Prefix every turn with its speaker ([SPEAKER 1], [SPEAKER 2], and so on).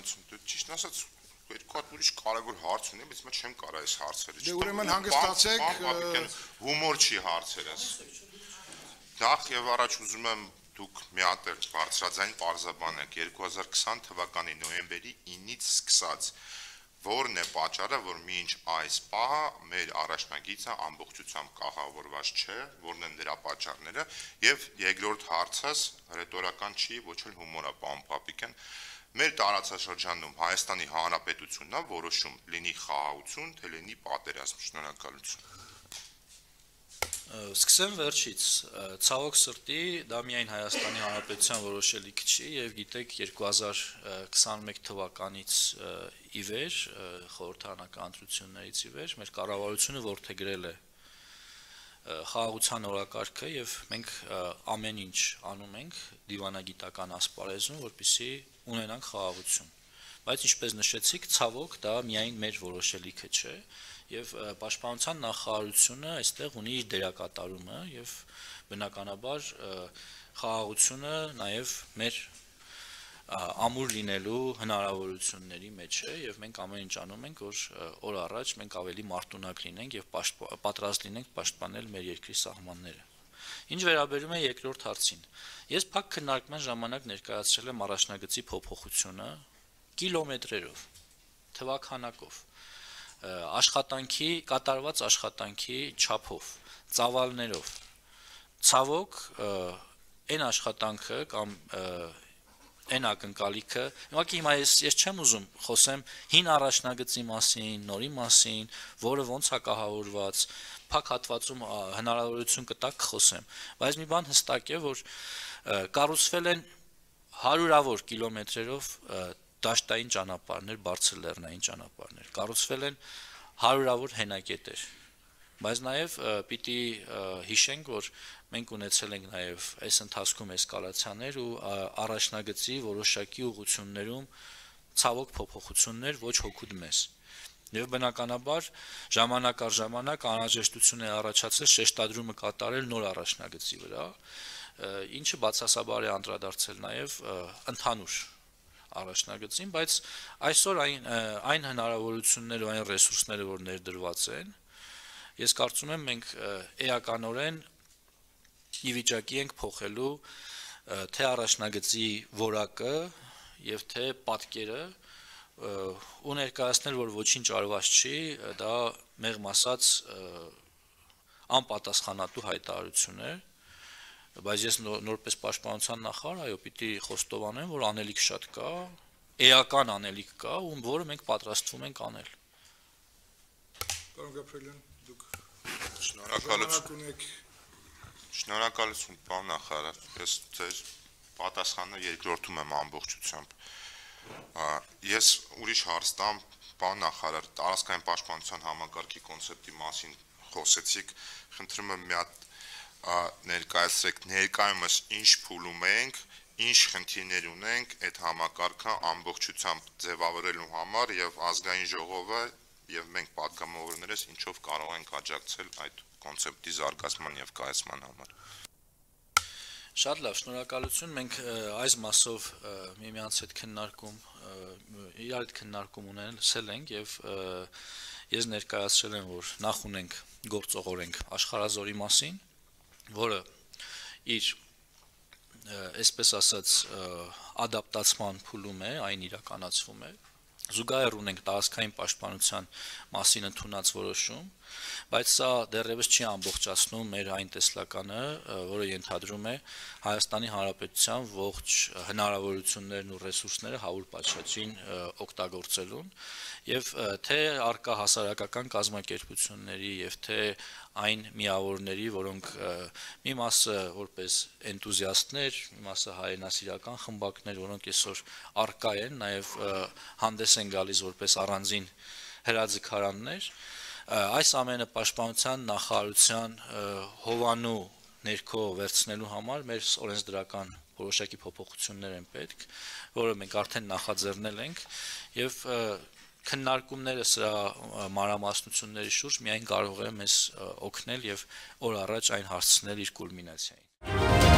[SPEAKER 1] շնորհակալություն։ Ճիշտ ասած, երկու հատ ուրիշ կարևոր հարց ունեմ, բայց մա չեմ կարող այս հարցերը։
[SPEAKER 2] Դե ուրեմն հանգստացեք,
[SPEAKER 1] հումոր չի հարցերս։ Նախ եւ առաջ ուզում եմ դուք մի հատ բարձրաձայն պարզաբանեք 2020 թվականի նոյեմբերի 9-ից սկսած որն է պատճառը, որ մինչ այս պահը մեր առաջնագիծը ամբողջությամբ կահավորված չէ, որն են դրա պատճառները, եւ երկրորդ հարցս ռետորական չի, ոչ էլ հումոր է, պարոն Պապիկյան, մեր տարածաշրջանում Հայաստանի Հանրապետությունն է որոշում լինի խաղաղություն, թե լինի պատերազմ, շնորհակալություն։
[SPEAKER 3] Սկսեմ վերջից, ցավոք սրտի, դա միայն Հայաստանի Հանրապետության որոշելիք չի եւ գիտեք 2021 թվականից ի վեր, խորհրդարանական ընտրություններից ի վեր, մեր կառավարությունը որդեգրել է խաղաղության օրակարգը եւ մենք ամեն ինչ անում ենք դիվանագիտական ասպարեզում, որպեսզի ունենանք խաղաղություն։ Բայց ինչպես նշեցիք, ցավոք դա միայն մեր որոշելիքը չէ եւ պաշտպանության նախարարությունը այստեղ ունի իր դերակատարումը եւ բնականաբար խաղաղությունը նաեւ մեր ամուր լինելու հնարավորությունների մեջ է եւ մենք ամեն ինչ անում ենք որ օր առաջ մենք ավելի մարտունակ լինենք եւ պատրաստ լինենք պաշտպանել մեր երկրի սահմանները։ Ինչ վերաբերում է երկրորդ հարցին, ես փակ քննարկման ժամանակ ներկայացրել եմ առաջնագծի փոփոխությունը կիլոմետրերով, թվականակով, կատարված աշխատանքի չափով, ծավալներով։ Ցավոք, այն աշխատանքը կամ այն ակնկալիքը, ուղղակի հիմա ես չեմ ուզում խոսեմ հին առաջնագծի մասին, նորի մասին, որը ոնց է կահավորված, փակ հատվածում հնարավորություն կտակ կխոսեմ, բայց մի բան հստակ է, որ կառուցվել են հարյուրավոր կիլոմետրերով դաշտային ճանապարհներ, բարձրլեռնային ճանապարհներ, կառուցվել են հարյուրավոր հենակետեր, բայց նաև պիտի հիշենք, որ մենք ունեցել ենք նաև այս ընթացքում էսկալացիաներ ու առաջնագծի որոշակի ուղղություններում ցավոք փոփոխություններ ոչ հոգուտ մեզ։ Եվ բնականաբար ժամանակ առ ժամանակ անհրաժեշտություն է առաջացել շեշտադրումը կատարել նոր առաջնագծի վրա, ինչը բացասաբար է անդրադարձել նաև ընդհանուր առաջնագծին, բայց այսօր այն հնարավորությունները ու այն ռեսուրսները, որ ներդրված են, ես կարծում եմ մենք էականորեն ի վիճակի ենք փոխելու թե առաջնագծի որակը եւ թե պատկերը ու ներկայացնել, որ ոչինչ արված չի, դա մեղմ ասած անպատասխանատու հայտարարություն է, բայց ես նորպես պաշտպանության նախարար, այո, պիտի խոստովանեմ, որ անելիք շատ կա, էական անելիք կա, ու որը մենք պատրաստվում ենք անել։
[SPEAKER 2] Պարոն Գաբրելյան, դուք
[SPEAKER 1] Շնորհակալություն, պարոն նախարար, ես ձեր պատասխանը երկրորդում եմ ամբողջությամբ։ Ես ուրիշ հարց տամ, պարոն նախարար, տարածքային պաշտպանության համակարգի կոնցեպտի մասին խոսեցիք, խնդրում եմ մի հատ ներկայացրեք ներկայումս ինչ փուլում ենք, ինչ խնդիրներ ունենք այդ համակարգը ամբողջությամբ ձևավորելու համար եւ ազգային ժողովը եւ մենք պատգամավորներս ինչով կարող ենք աջակցել այդ կոնցեպտի զարգացման եւ կայացման համար։
[SPEAKER 3] Շատ լավ, շնորհակալություն, մենք այս մասով միմյանց հետ իրար հետ քննարկում ունեցել ենք եւ ես ներկայացրել եմ, որ նախ ունենք գործողորենք աշխարհազորի մասին, որը իր այսպես ասած ադապտացման փուլում է, այն իրականացվում է, զուգահեռ ունենք տարածքային պաշտպանության մասին ընդունած որոշում, բայց սա դեռևս չի ամբողջացնում մեր այն տեսլականը, որը ենթադրում է Հայաստանի Հանրապետության ողջ հնարավորություններն ու ռեսուրսները հավուր պատշաճին օգտագործելուն եւ թե արկա հասարակական կազմակերպությունների եւ թե այն միավորների, որոնք մի մասը որպես էնտուզիաստներ, մի մասը հայրենասիրական խմբակներ, որոնք այսօր արկա են, նաեւ հանդես են գալիս որպես առանձին հրաձգարաններ, այս ամենը պաշտպանության նախարարության հովանու ներքո վերցնելու համար մեր օրենսդրական որոշակի փոփոխություններ են պետք, որը մենք արդեն նախաձեռնել ենք եւ քննարկումները սրա մանրամասնությունների շուրջ միայն կարող է մեզ օգնել եւ օր առաջ այն հասցնել իր կուլմինացիային։